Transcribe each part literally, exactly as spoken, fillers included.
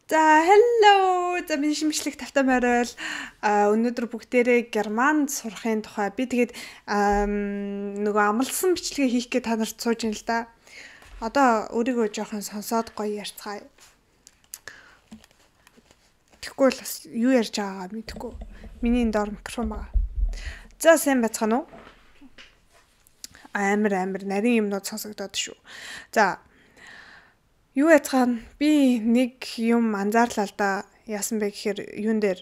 За hello. За миний шимжлэх тавтай морил өнөөдөр бүгдээрээ германд сурахын тухай би тэгээд нөгөө амлсан бичлэгээ хийх гэж та нарт сууж ин л да. Одоо өөрийгөө жоохон сонсоод гоё ярьцгаая. Тэгэхгүй л бас юу ярьж байгаагаа мэдэхгүй. Миний энэ доор микрофон байгаа. За сайн байцгаана уу? Амар амар нарийн юмнууд сонсогдоод шүү. За юу яцгаана би нэг юм анзаарлаа л да. Яасан бэ гэхээр юун дээр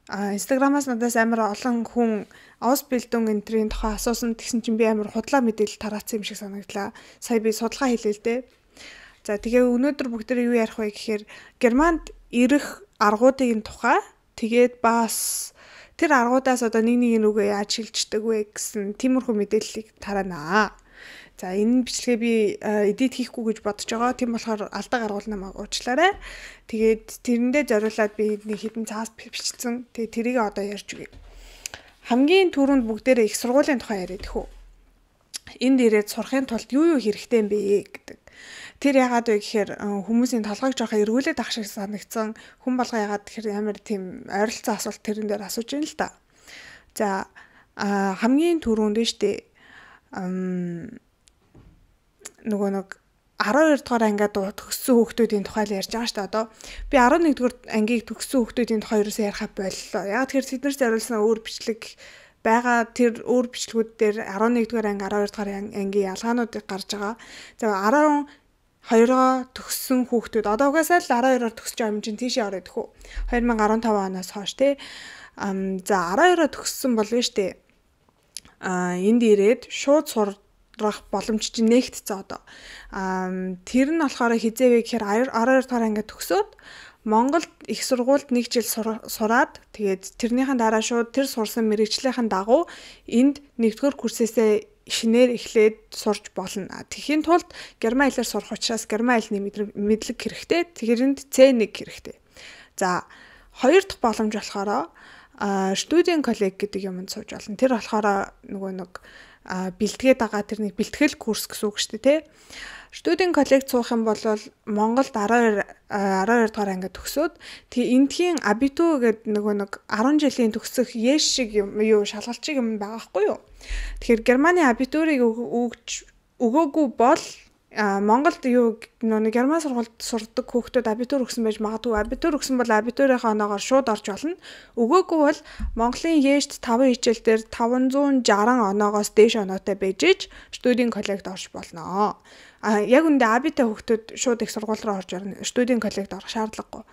Instagram-аас надаас амар олон хүн Ausbildung энтрийн тухай асуусан тэгсэн чинь би амар худлаа мэдээлэл тараацсан юм шиг санагдлаа. Сая би судалгаа хийлээ л дээ. За тэгээ өнөөдөр бүгдээ юу ярих вэ гэхээр Германд ирэх аргуудын тухай тэгээд бас тэр аргуудаас одоо нэг нэг нүгөө яаж шилждэг вэ гэсэн тиймэрхүү мэдээллийг тараанаа. За энэ бичлэгээ би эдит хийхгүй гэж бодож байгаа. Тийм болохоор алдаа гаргуул намайг уучлаарай. Тэгээд тэрэндээ зориулаад би нэг хэдэн цаас бичсэн. Тэгээд тэрийг одоо ярьж өгье. Хамгийн түрүүнд бүгдээрээ их сургуулийн тухай яриад хөө. Энд ирээд сурахын тулд юу юу хэрэгтэй юм бэ гэдэг. Тэр яагаад вэ гэхээр хүмүүсийн толгойг жоохоо эргүүлээд ах шиг санагдсан. Хүн болго яагаад тэгэхээр амар тийм ойролцоо асуулт тэрэн дээр асууж байна л да. За хамгийн түрүүнд нь штэ нөгөө нэг арван хоёр дугаар ангиад төгссөн хүүхдүүдийн тухай л ярьж байгаа шүү дээ. Одоо би арван нэг дугаар ангийг төгссөн хүүхдүүдийн тухай ерөөсөө ярихаа боллоо. Яг тэр тэднэрт зориулсан өөр бичлэг байгаа. Тэр өөр бичлэгүүд дээр арван нэг дугаар анги, арван хоёр дугаар ангийн ялгаануудыг гарч байгаа. За арван хоёроо төгссөн хүүхдүүд одоо угаасаа л арван хоёроор төгсөж байгаа юм чинь тийшээ ороод хөө. две тысячи десятый оноос хойш тий. Ам за арван хоёроо төгссөн бол нь штэ. А энд ирээд шууд сур боломж чинь нэгтцээ одоо. Аа тэр нь болохоор хизээвэ гэхээр арван хоёр дахь ангид төгсөөд Монголд их сургуульд нэг жил сураад тэгээд тэрнийхэн дараа шууд тэр сурсан мэрэгжлийнхэн дагуу энд нэгдүгээр курсээсээ шинээр эхлээд сурж болно. Тэхийн тулд герман хэлээр сурах учраас герман хэлний мэдлэг хэрэгтэй. Тэгэхэрэнд цэ один хэрэгтэй. За хоёр дахь боломж болохоор студент коллеж гэдэг юмд сууж болно. Тэр болохоор нөгөө нэг бэлтгээд байгаа тэр нэг бэлтгэл курс гэсэн үг шүү дээ тий. Студент коллеж суух юм бол Монголд арван хоёр дахь ангид төгсөөд тэгээ эндхийн абиту гэдэг нөгөө нэг арван жилийн төгсөх еш шиг юм юу шалгалт шиг юм байгаа хгүй юу. Тэгэхээр Германы абитурыг өгж өгөөгүй бол Монголд юу нэг герман сургуульд сурдаг хүүхдүүд абитур өгсөн байж магадгүй. Абитур өгсөн бол абитурынхаа оноогоор шууд орж болно. Өгөөгүй бол Монголын ЕШ-т таван хичээл дээр таванзуун шаран оноогоос дээш оноотой байж ич студент коллегид орж болно. А яг үндэ абитай хүүхдүүд шууд их сургууль руу орж орно. Студент коллегид орох шаардлагагүй.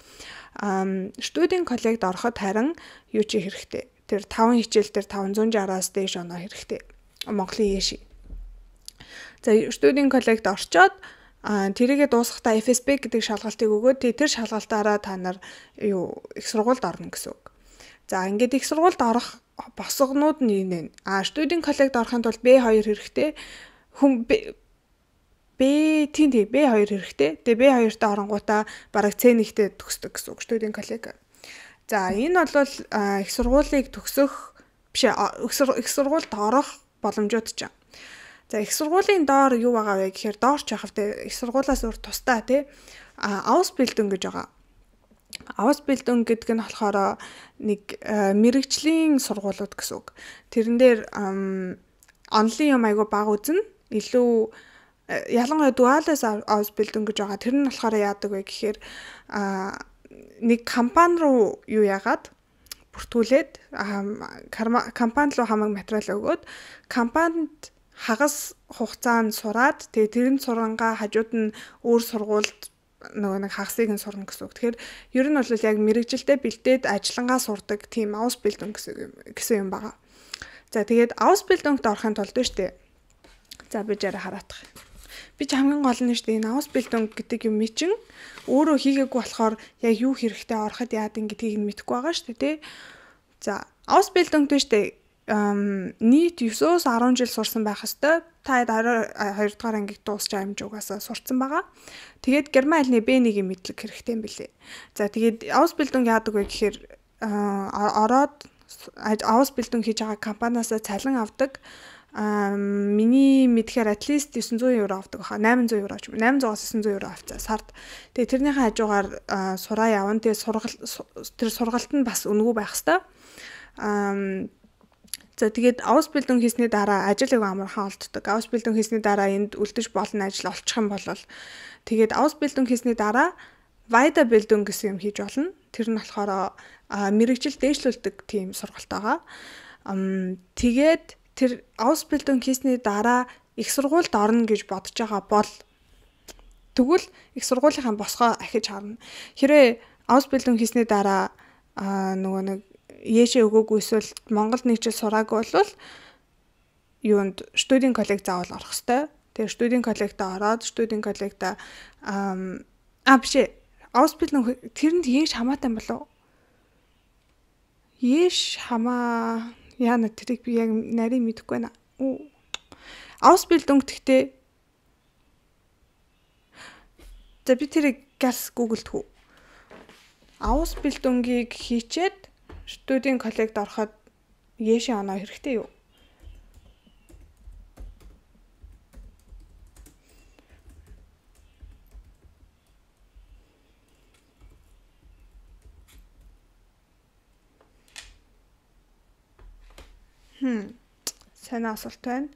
А студент коллегид ороход харин юу чи хэрэгтэй. Тэр таван хичээл дээр таванзуун шараас дээш оноо хэрэгтэй. Монголын ЕШ. За студент коллегид орчоод тэрийгээ дуусгахдаа эф эс бэ гэдэг шалгалтыг өгөөд тэр шалгалтаараа та нар юу их сургуульд орно гэсэн үг. За ингээд их сургуульд орох босгонууд нь энэ. А студент коллегид орохын тулд бэ хоёр хэрэгтэй. Хүн Б тийм тийм бэ хоёр хэрэгтэй. Тэгээ бэ хоёртаа оронгуудаа бараг цэ нэгтэй төгсдөг гэсэн үг студент коллеж. За энэ бол их сургуулийг төгсөх биш их сургуульд орох боломжууд ч юм. За их сургуулийн доор юу байгаа вэ гэхээр доорч явах те их сургуулаас өөр тусдаа те Ausbildung гэж байгаа. Ausbildung гэдэг нь болохоор нэг мэрэгжлийн сургуулиуд гэсэн үг. Тэрэн дээр онлын юм айгу баг үзэн илүү ялангуяа дуалаас Ausbildung гэж байгаа. Тэр нь болохоор яадаг вэ гэхээр нэг компани руу юу яагаад бүртгүүлээд компани руу хамаг материал өгөөд компанид хагас хугацаанд сураад тэгээ тэрэн сурангаа хажууд нь өөр сургуульд нөгөө нэг хагасыг нь сурна гэсэн үг. Тэгэхээр ер нь бол яг мэрэгжилтэд бэлдээд ажиллангаа сурдаг тийм Ausbildung гэсэн гэсэн юм байгаа. За тэгээд Ausbildungд орохын тулд штэ. За би жаараа хараадах. Би ч хамгийн гол нь штэ энэ Ausbildung гэдэг юм чинь өөрөө хийгээгүй болохоор яг юу хэрэгтэй ороход яад гэдгийг нь мэдэхгүй байгаа штэ тий. За Ausbildung штэ нийт девятөөс десять жил сурсан байх хэвээр та хоёр дахь ангид дуусч байгаа юм жугаас сурцсан байгаа. Тэгээд герман хэлний бэ один-ийн мэдлэг хэрэгтэй юм билээ. За тэгээд Ausbildung яадаг вэ гэхээр ороод Ausbildung хийж байгаа компаниас цалин авдаг. Аа миний мэдхээр at least девятьсот евро авдаг баха. восемьсот евро ч юм. восемьсот-аас девятьсот евро авцаа сард. Тэгээ тэрнийхээ хажуугаар сураа явна. Тэгээ сургалт тэр сургалт нь бас үнэгүй байх хэвээр. Аа за тэгээд Ausbildung хийсний дараа ажил аяга амархан олддог. Ausbildung хийсний дараа энд үлдэж болно ажил олчих юм бол тэгээд Ausbildung хийсний дараа Weiterbildung гэсэн юм хийж болно. Тэр нь болохоор мэрэгжил дээшлүүлдэг тийм сургалт байгаа. Ам тэгээд тэр Ausbildung хийсний дараа их сургуульд орно гэж бодож байгаа бол тэгвэл их сургуулийнхаа босгоо ахиж харна. Хэрвээ Ausbildung хийсний дараа нөгөө нэг Яшээ өгөөгүй эсвэл Монголд нэг жил сураагүй бол юунд студийн коллеж заавал орох хэвээр. Тэгээ студийн коллежид ороод студийн коллежид аа биш Ausbildung тэрэнд яаж хамаатай юм болов? Яаж хамаа яна тэрийг би яг нарийн мэдэхгүй байна. Ausbildung гэхдээ за би тэрийг газ гуглд хүү. Ausbildung-ийг хийчээд студийн коллегид ороход яшээ оноо хэрэгтэй юу? Хм. Сайн асуулт байна.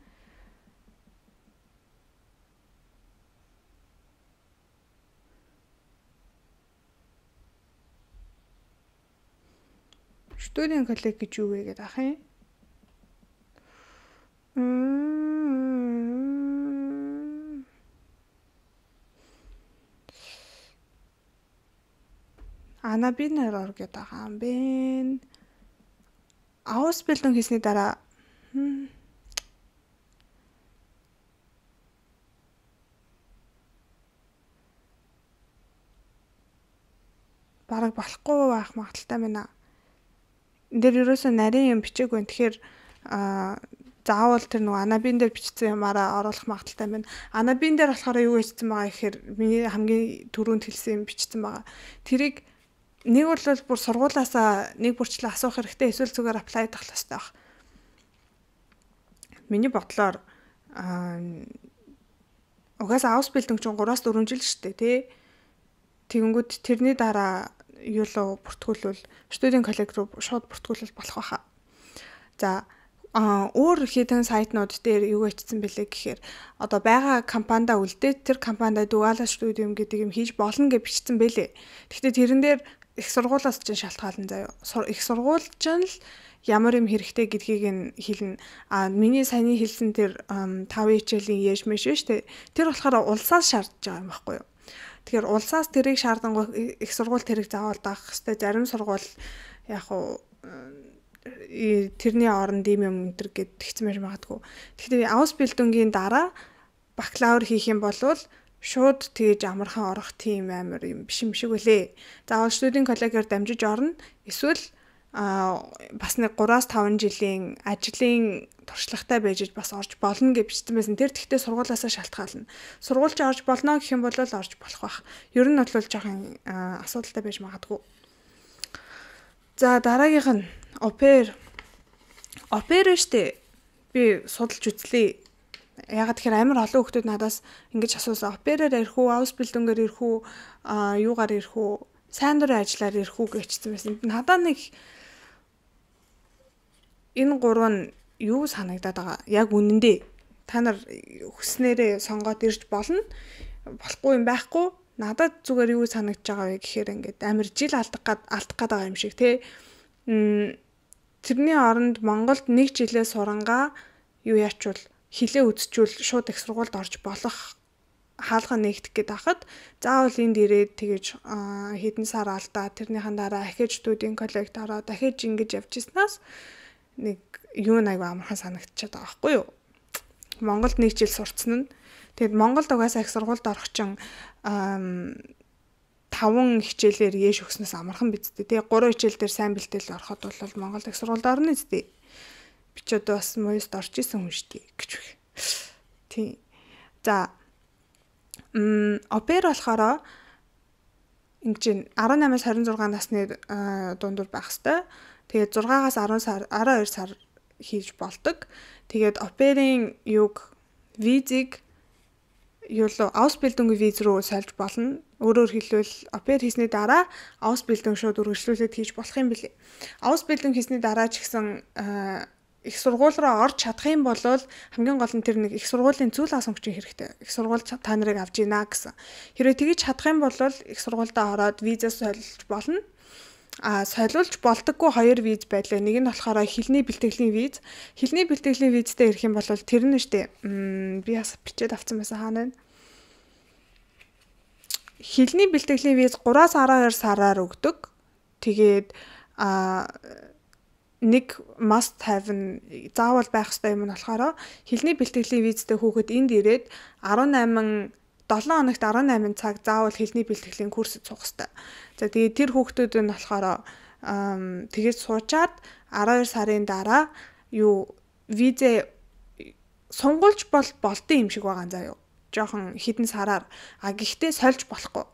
Студийн коллеж гэж юу вэ гэдэг ах юм? Анабинер ор гэдэг юм бэ. Ausbildung хийсний дараа бараг болохгүй байх магадaltaй байна. Энд дээр ерөөсөө нарийн юм бичээг байна. Тэгэхээр аа заавал тэр нөгөө анабин дээр бичсэн юмараа оруулах магадaltaй байна. Анабин дээр болохоор юу хийсэн байгаа гэхээр миний хамгийн түрүүнд хэлсэн юм бичсэн байгаа. Тэрийг нэг бол бүр сургуулаасаа нэг бүрчлээ асуух хэрэгтэй, эсвэл зүгээр apply дах хэрэгтэй баг. Миний бодлоор аа угаасаа Ausbildung чинь гураас дөрвөн жил шүү дээ, тий. Тэгэнгүүт тэрний дараа юу л бүртгүүлвэл студийн коллеж руу шууд бүртгүүлэл болох байхаа. За а өөр хэдэн сайтнууд дээр юу хийсэн бэлээ гэхээр одоо байгаа компанида үлдээд тэр компанида дуала студиум гэдэг юм хийж болно гэж бичсэн бэлээ. Гэхдээ тэрэн дээр их сургуулиас ч шалтгаална заяа. Их сургууль ч л ямар юм хэрэгтэй гэдгийг нь хэлнэ. А миний саяны хэлсэн тэр таван хичээлийн яш мэш шүү дээ. Тэр болохоор улсаас шаардж байгаа юм байхгүй юу? Тэгэхээр улсаас тэрийг шаардангуй их сургууль тэрийг заавал даах хэвээр. Зарим сургууль яг уу тэрний оронд ийм юм өнтер гэд тэгсэн байж магадгүй. Тэгэхээр Ausbildung-ийн дараа бакалавр хийх юм бол шууд тэгж амархан орох тийм амар юм биш юм шиг үлээ. Заавал студийн коллежээр дамжиж орно. Эсвэл а бас нэг гураас таван жилийн ажлын туршлагатай байж бас орж болно гэж бичсэн байсан. Тэр тэгтээ сургуулаасаа шалтгаална. Сургуульч орж болно гэх юм бол орж болох байх. Ер нь бол жоохон асуудалтай байж магадгүй. За дараагийнх нь опер. Опер штэ. Би судалж үзлээ. Ягаад тэгэхээр амар олон хүмүүс надаас ингэж асуусан. Оперээр ирэх үү, Ausbildung-ээр ирэх үү, а юугаар ирэх үү, сайн дурын ажиллаар ирэх үү гэжсэн байсан. Надаа нэг энэ гурав нь юу санагдаад байгаа? Яг үнэндээ та нар хүснээрээ сонгоод ирж болно. Болохгүй юм байхгүй. Надад зүгээр юу санагдаж байгаа вэ гэхээр ингээд амар жил алдах гад алдах гад байгаа юм шиг тий. Тэрний оронд Монголд нэг жилээ сурангаа юу яачвал хилээ үзчихвэл шууд их сургуульд орж болох хаалга нэгдэх гээд байхад заавал энд ирээд тэгэж хэдэн сар алдаа тэрнийхэн дараа ахиж студийн коллегид ороод дахиж ингэж явж ирснаас нэг юу нэг амархан санагдчихад байгаа байхгүй юу. Монголд нэг жил сурцсан нь тэгэд Монголд угаасаа их сургуульд орох чинь таван хичээлээр яэш өгснөөс амархан бидтэй. Тэгээ гурван хичээл дээр сайн бэлтгэл ороход бол Монголд их сургуульд орно үстэй. Би ч одоо бас моёст орж исэн хүн шүү дээ гэж үг. Тийм. За м опер болохоор ингэж арван намаас хорин зургаан насны дундуур байх хэвээр. Тэгээд зургаагаас арван сар, арван хоёр сар хийж болдог. Тэгээд оперын юг визийг юу л Ausbildung виз руу сольж болно. Өөрөөр хэлбэл опер хийсний дараа Ausbildung шууд үргэлжлүүлээд хийж болох юм билий. Ausbildung хийсний дараа ч гэсэн их сургууль руу орж чадах юм бол хамгийн гол нь тэр нэг их сургуулийн зүйл асамгчийн хэрэгтэй. Их сургууль та нарыг авч ийна гэсэн. Хэрвээ тэгж чадах юм бол их сургуультай ороод визээ солиж болно. А солиулж болдоггүй хоёр виз байлаа. Нэг нь болохоор хэлний бэлтгэлийн виз. Хэлний бэлтгэлийн визтэй ирэх юм бол тэр нь штэ. Би бас бичээд авсан байсан хаана вэ? Хэлний бэлтгэлийн виз гураас араа хоёр сараар өгдөг. Тэгээд а нэг must have нь заавал байх ёстой юм нь болохоор хэлний бэлтгэлийн визтэй хүүхэд энд ирээд дөрвөн хоногт дөрвөн цаг заавал хэлний бэлтгэлийн курсд суух ёстой. За тэгээд тэр хүүхдүүд нь болохоор тэгээд суучаад араа хоёр сарын дараа юу визээ сунгуулж бол болдсон юм шиг байгаа заа юу. Жохон хідэн сараар а гэхдээ сольж болохгүй.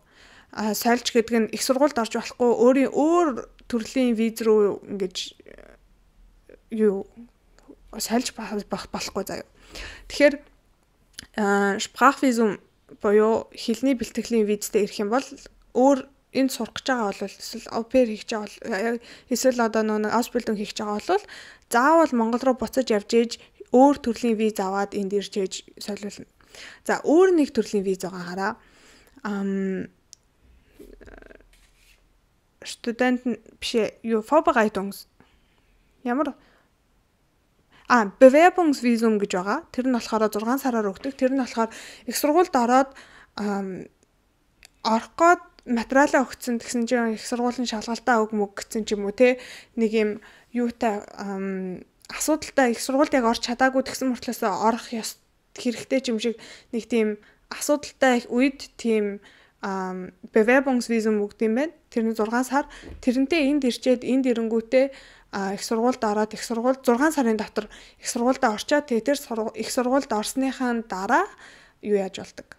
А сольж гэдэг нь их сургуульд орж болохгүй өөрийн өөр төрлийн виз рүү ингэж юу сольж болохгүй заа юу. Тэгэхээр Sprachvisum боёо хэлний бэлтгэлийн визтэй ирэх юм бол өөр энд сурах гэж байгаа бол эсвэл опер хийх гэж байгаа эсвэл одоо нэг Ausbildung хийх гэж байгаа бол заавал Монгол руу буцаж явж ээж өөр төрлийн виз аваад энд ирж ээж солиулна. За өөр нэг төрлийн виз байгаа хараа. Ам студент биш юу Vorbereitungs ямар А Bewerbungsvisum гэж байгаа. Тэр нь болохоор зургаан сараар өгдөг. Тэр нь болохоор их сургуульд ороод орох гээд материалаа өгсөн гэсэн чинь их сургуулийн шалгалтаа өг мөг гэсэн ч юм уу те нэг юм юутай асуудалтай их сургуульд яг орч чадаагүй тэгсэн мөртлөөсөө орох ёс хэрэгтэй ч юм шиг нэг тийм асуудалтай үед тийм Bewerbungsvisum өгд юм байна. Тэр нь зургаан сар. Тэрнтэй энд ирчээд энд ирэнгүүтээ их сургуульд ороод их сургууль зургаан сарын дотор их сургуульд орчоод тэгээ тэр их сургуульд орсныхаа дараа юу яаж болдог?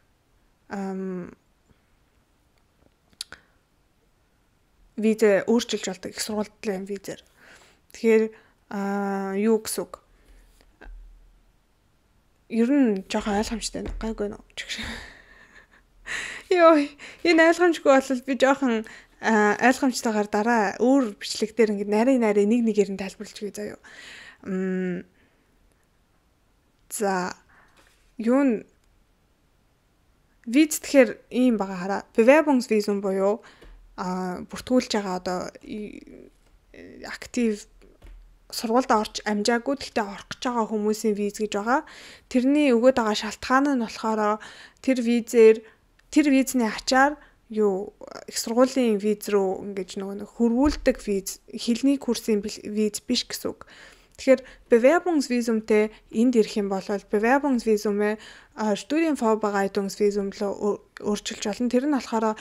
Ам визээ өөрчилж болдог их сургуулийн визээр. Тэгэхээр юу гэсэн үг? Ер нь жоохон ойлгомжтой гайгүй нөө. Йоо, энэ ойлгомжгүй бол би жоохон ойлгомжтойгоор дараа өөр бичлэг дээр ингэ нарийн нарийн нэг нэгээр нь тайлбарлаж өгье заяа. Мм. За юу н виз тэгэхээр ийм байгаа хараа. Bewerbungsvisum буюу а бүртгүүлж байгаа одоо актив сургуульд орж амжаагүй гэхдээ орох гэж байгаа хүмүүсийн виз гэж байгаа. Тэрний өгөөд байгаа шалтгаан нь болохоор тэр визээр тэр визний ачаар юу их сургуулийн виз рүү ингэж нөгөө нэг хөрвүүлдэг виз хэлний курсын виз биш гэсэн үг. Тэгэхээр Bewerbungsvisumтэй энд ирэх юм бол Bewerbungsvisum-ээ Studienvorbereitungsvisum руу өөрчилж болно. Тэр нь болохоор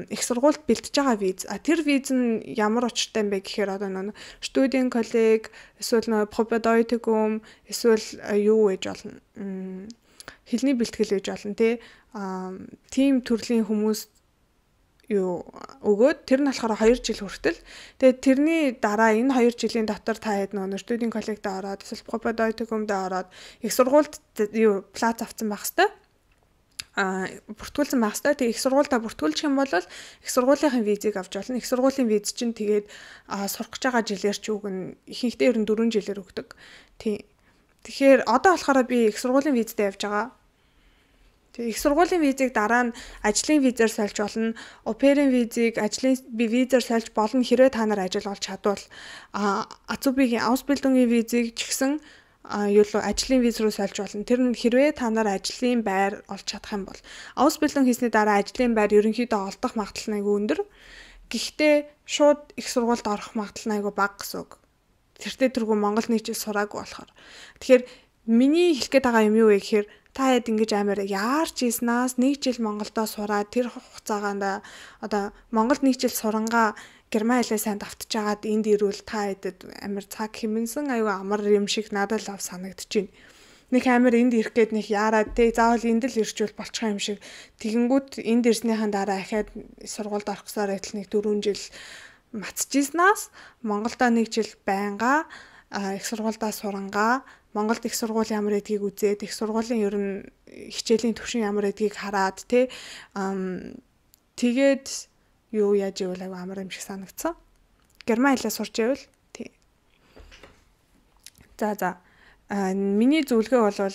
их сургуульд бэлтэж байгаа виз. А тэр виз нь ямар учиртай юм бэ гэхээр одоо нөгөө Studienkolleg эсвэл нөгөө Propedeutikum эсвэл юу гэж болно. Хэлний бэлтгэл гэж болно тий. Тим төрлийн хүмүүс юу өгөөд тэр нь болохоор хоёр жил хүртэл. Тэгээд тэрний дараа энэ хоёр жилийн дотор та хэд нөгөө студийн коллегт ороод эсвэл Propedeutikumд ороод их сургуульд юу плац авсан байх хэвээр. А бүртгүүлсэн байх хэвээр. Тэгээд их сургуульдаа бүртгүүлчих юм бол их сургуулийн визийг авч болно. Их сургуулийн виз чинь тэгээд сурах гэж байгаа жилээр ч үгэн ихэнхдээ ер нь дөрвөн жилээр өгдөг. Тийм. Тэгэхээр одоо болохоор би их сургуулийн визтэй явж байгаа. Тэгээ их сургуулийн визийг дараа нь ажлын визээр сольж болно. Оперын визийг ажлын визээр сольж болно хэрвээ та нар ажил олж чадвал. А Azubi-гийн Ausbildung-ийн визийг ч гэсэн юу л ажлын виз рүү сольж болно. Тэр нь хэрвээ та нар ажлын байр олж чадах юм бол. Ausbildung хийсний дараа ажлын байр ерөнхийдөө олдох магадлал нь айгүй өндөр. Гэхдээ шууд их сургуульд орох магадлал нь айгүй бага гэсэн үг. Тэртээ тэргүй Монгол нийтжил сураагүй болохоор. Тэгэхээр миний хэлэх гээд байгаа юм юу вэ гэхээр та хэд ингэж амар яарч ийснаас нэг жил Монголдо сураад тэр хугацаагаанда одоо Монгол нэг жил сурангаа герман хэлээ сайн давтж агаад энд ирвэл та хэдэд амар цаг хэмнсэн аюу амар юм шиг надад л ав санагдчихэв. Нэг амар энд ирэх гээд нэг яарад те заавал энд л ирчүүл болчих юм шиг тэгэнгүүт энд ирснийхэн дараа ахаад сургуульд орох гэсээр байтал нэг дөрвөн жил мацчихснаас Монголдо нэг жил байнга их сургуульдаа сурангаа Монголд их сургууль ямар гэдгийг үзээд их сургуулийн ер нь хичээлийн түвшин ямар гэдгийг хараад тий тэгээд юу яаж ивэл аягүй амар юм шиг санагдсан. Герман хэлээ сурч ивэл тий. За за. Миний зөвлөгөө бол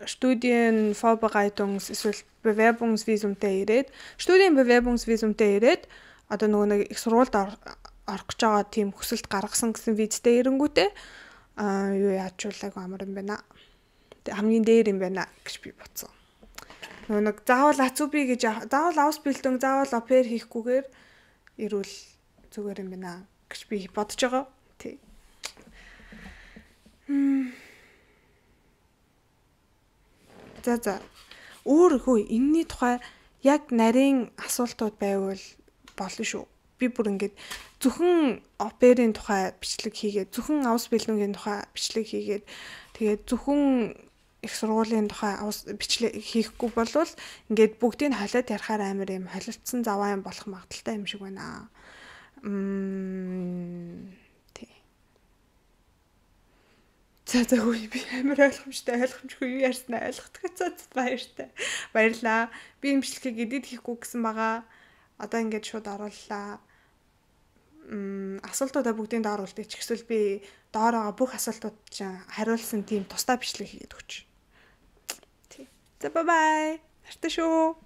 Studienvorbereitungs эсвэл Bewerbungsvisumтэй ирээд Studienbewerbungsvisumтэй ирээд одоо нөгөө нэг их сургуульд орох гэж байгаа тийм хүсэлт гаргасан гэсэн визтэй ирэнгүүтээ аа юу яачуулаагүй амар юм байна. Хамгийн дээр юм байна гэж би бодсон. Нөгөө нэг заавал Ацуби гэж заавал Ausbildung заавал опер хийхгүйгээр ирүүл зүгээр юм байна гэж би бодож байгаа. Тий. За за. Өөр хөө энэний тухай яг нарийн асуултууд байвал болно шүү. Би бүр ингээд зөвхөн оперын тухай бичлэг хийгээд зөвхөн Ausbildung-ийн тухай бичлэг хийгээд тэгээд зөвхөн их сургуулийн тухай бичлэг хийхгүй болвол ингээд бүгдийг холиод ярахаар амар юм холилдсон заваа юм болох магадaltaй юм шиг байна. Мм тий. За за үгүй би амар ойлгомжтой ойлгомжгүй юу ярьснаа ойлгохтой баяртай. Баярлаа. Би юм бичлэгийг эдит хийхгүй гэсэн байгаа. Одоо ингээд шууд орууллаа. Мм асуултуудаа бүгдийг доор үлдээч. Эсвэл би доороо бүх асуултууд чинь хариулсан тийм тусдаа бичлэг хийгээд өгч. Тий. За бай бай. Нартай шүү.